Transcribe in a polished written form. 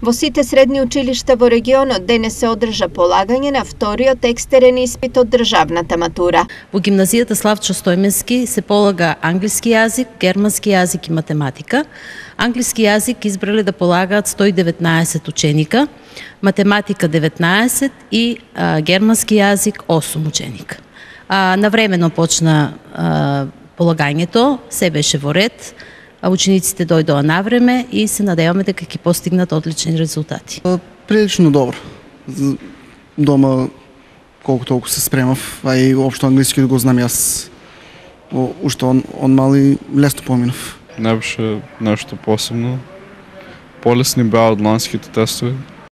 Во сите средни училишта во регионот денес се одржа полагање на вториот екстерен испит од државната матура. Во гимназијата Славчо Стојменски се полага англиски јазик, германски јазик и математика. Англиски јазик избрале да полагаат 119 ученика, математика 19 и германски јазик 8 ученика. Навремено почна полагањето, се беше во ред. Учениците дојдоа навреме и се надеваме дека ќе постигнат одлични резултати. Прилично добро. Дома колку толку се спремав, а и општо англиски го знам јас. Уште он мали лесно поминав. Не беше нешто посебно. Полесни беа од ланските тестови.